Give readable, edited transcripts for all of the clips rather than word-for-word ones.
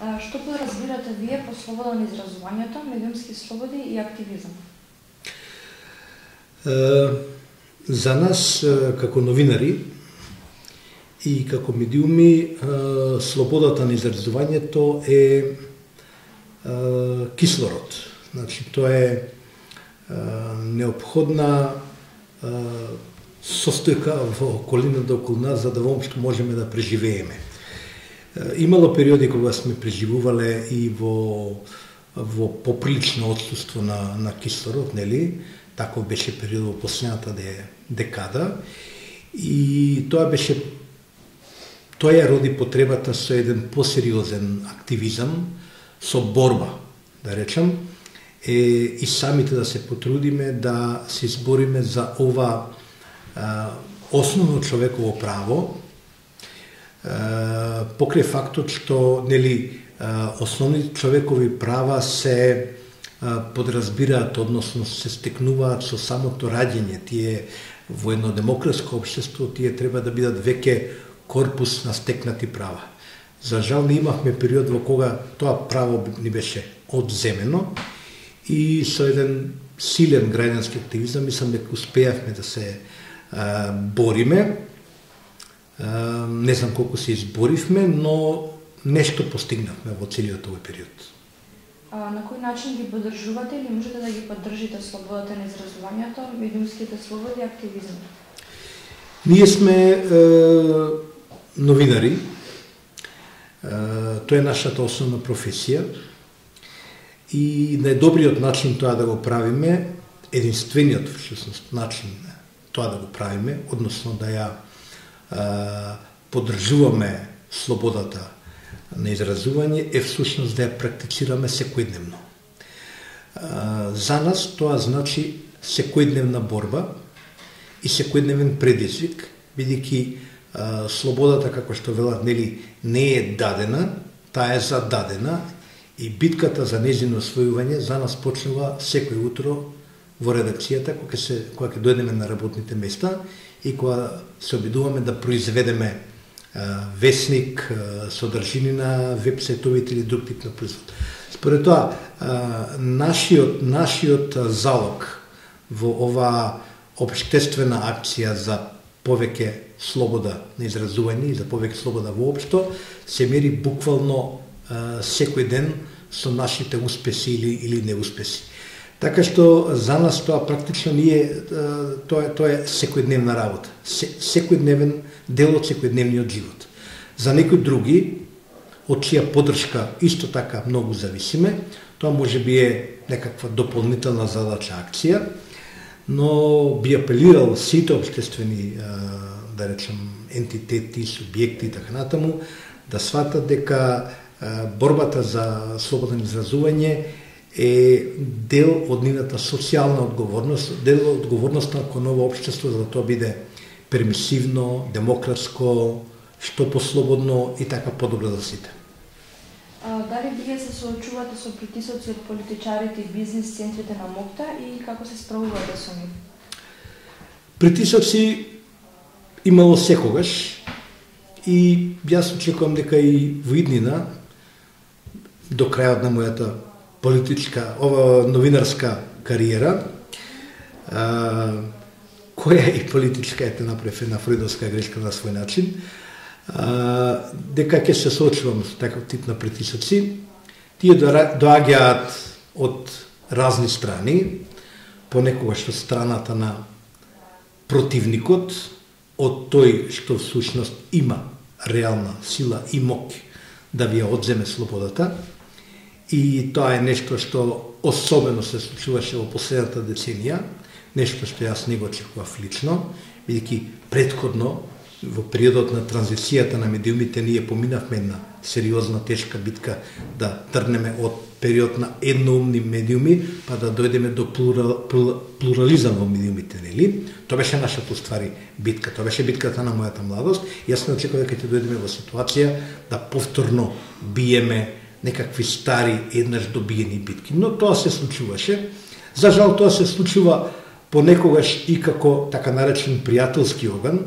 Што подразбирате вие по слобода на изразувањето, медиумски слободи и активизам? За нас, како новинари и како медиуми, слободата на изразувањето е кислород. Значи, тоа е неопходна состојка во околината околу нас, за да воопшто можеме да преживееме. Имало периоди кога сме преживувале и во поприлично отсуство на кислород, нели? Таков беше период во последната декада, и тоа ја роди потребата со еден посериозен активизам, со борба, да речам, и самите да се потрудиме да се избориме за ова основно човеково право, покрај фактот што, нели, основни човекови права се подразбираат, односно се стекнуваат со самото раѓање. Тие во едно демократско општество тие треба да бидат веќе корпус на стекнати права. За жал не имавме период во кога тоа право ни беше одземено, и со еден силен граѓански активизам мислам дека успеавме да се бориме. Не знам колку се изборивме, но нешто постигнавме во целиот овој период. На кој начин ги поддржувате или можете да ги поддржите слободата на изразувањето, медиумските слободи и активизм? Ние сме новинари. Тоа е нашата основна професија. И најдобриот начин тоа да го правиме, единствениот всушност начин тоа да го правиме, односно да ја поддржуваме слободата на изразување, е всушност да ја практицираме секојдневно. За нас тоа значи секојдневна борба и секојдневен предизвик, бидејќи слободата, како што велат, нели, не е дадена, таа е зададена, и битката за нејзино освојување за нас почнува секој утро во редакцијата, кога ќе дојдеме на работните места и кога се обидуваме да произведеме весник, содржинина, веб-сајтовите или друг тип на производ. Според тоа, нашиот залог во ова општествена акција за повеќе слобода на изразување и за повеќе слобода воопшто се мери буквално секој ден со нашите успеси или неуспеси. Така што за нас тоа практично тоа е секојдневна работа, секојдневен дел од секојдневниот живот. За некои други, од чија поддршка исто така многу зависиме, тоа може би е некаква дополнителна задача, акција, но би апелирал сите општествени, да речем, ентитети, субјекти и така натаму, да сватат дека борбата за слободно изразување е дел од нивната социјална одговорност, дел од одговорноста кон ново општество, за да тоа биде пермисивно, демократско, што послободно и така подобро за сите. Дали вие се соочувате со притисоци од политичарите и бизнис центрите на МОКТА и како се справувате со нив? Притисоци имало секогаш, и јас очекувам дека и во иднина, до крајот на мојата новинарска кариера, која и политичка ете направи една фридовска грешка на свој начин, дека ќе се соочувам со таков тип на притисоци. Тие доаѓаат од разни страни, понекогаш од страната на противникот, од тој што всушност има реална сила и моќ да ви ја одземе слободата. И тоа е нешто што особено се случуваше во последната деценија, нешто што јас не го очекував лично, бидејќи претходно, во периодот на транзицијата на медиумите, ние поминавме една сериозна, тешка битка да тргнеме од период на едноумни медиуми, па да дојдеме до плурализам во медиумите, нели? Тоа беше нашата уствари битка, тоа беше битката на мојата младост. Јас не очекував дека ќе дојдеме во ситуација да повторно биеме некакви стари, еднаш добиени битки. Но тоа се случуваше. За жал, тоа се случува понекогаш и како така наречен пријателски оган,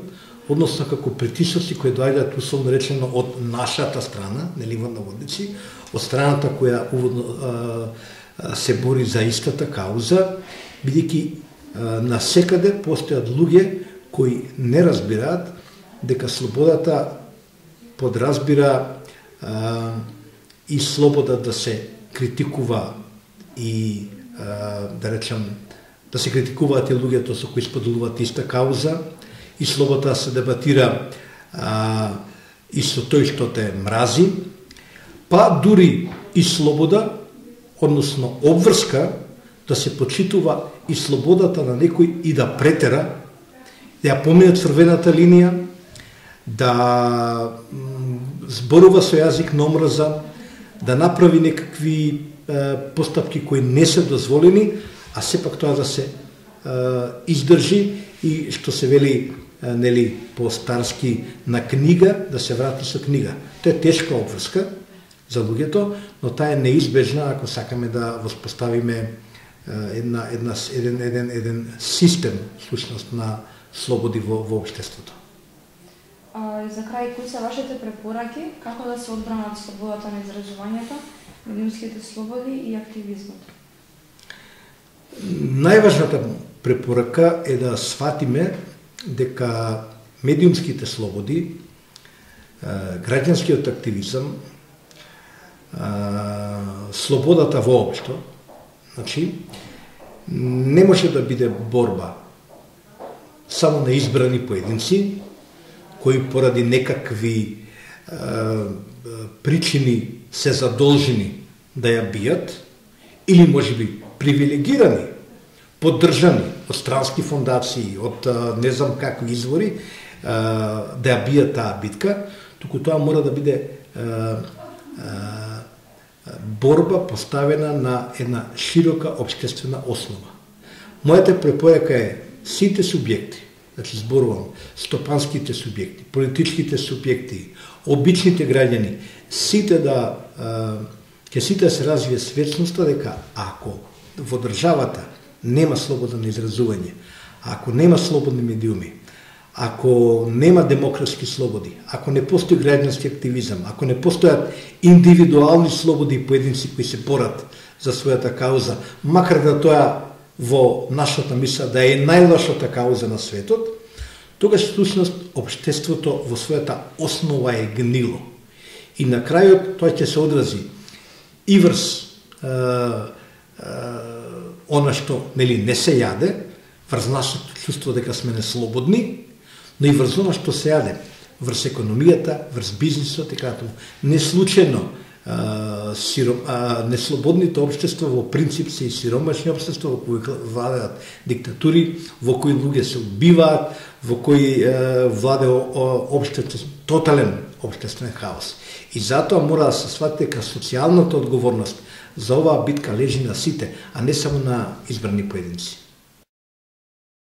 односно како притисоци кои доаѓаат условно речено од нашата страна, нели во наводници, од страната која се бори за истата кауза, бидејќи насекаде постојат луѓе кои не разбираат дека слободата подразбира и слобода да се критикува и да речем да се критикуваат и луѓето со кои споделуваат иста кауза, и слобода се дебатира и со тој што те мрази, па дури и слобода, односно обврска, да се почитува и слободата на некој и да претера, да ја помине црвената линија, да зборува со јазик на омраза, да направи некакви постапки кои не се дозволени, а сепак тоа да се издржи и што се вели нели по-старски на книга, да се врати со книга. Тоа е тешка обврска за луѓето, но таа е неизбежна ако сакаме да воспоставиме еден систем всушност на слободи во општеството. За крај, кои се вашите препораки како да се одбранат слободата на изразувањето, медиумските слободи и активизмот? Најважната препорака е да сватиме дека медиумските слободи, граѓанскиот активизам, слободата воопшто, значи, не може да биде борба само на избрани поединци, кои поради некакви причини се задолжени да ја бијат, или можеби привилегирани, поддржани од странски фондации, од не знам какви извори, да ја бијат таа битка, туку тоа мора да биде борба поставена на една широка општествена основа. Мојата препорака е сите субјекти, значи зборувам, стопанските субјекти, политичките субјекти, обичните граѓани, сите ќе сите се развие свесноста дека ако во државата нема слобода на изразување, ако нема слободни медиуми, ако нема демократски слободи, ако не постои граѓански активизам, ако не постојат индивидуални слободи и поединци кои се борат за својата кауза, макар да тоа во нашата мисла да е најлошата кауза на светот, тогаш всушност општеството во својата основа е гнило. И на крајот тоа ќе се одрази и врз она што нели не се јаде, врз нашето чувство дека сме неслободни, но и врз она што се јаде, врз економијата, врз бизнисот и така. Не случајно неслободните општества во принцип се и сиромашни општества во кои владеат диктатури, во кои луѓе се убиваат, во кои владее тотален општествен хаос. И затоа мора да се свати дека социјалната одговорност за оваа битка лежи на сите, а не само на избрани поединци.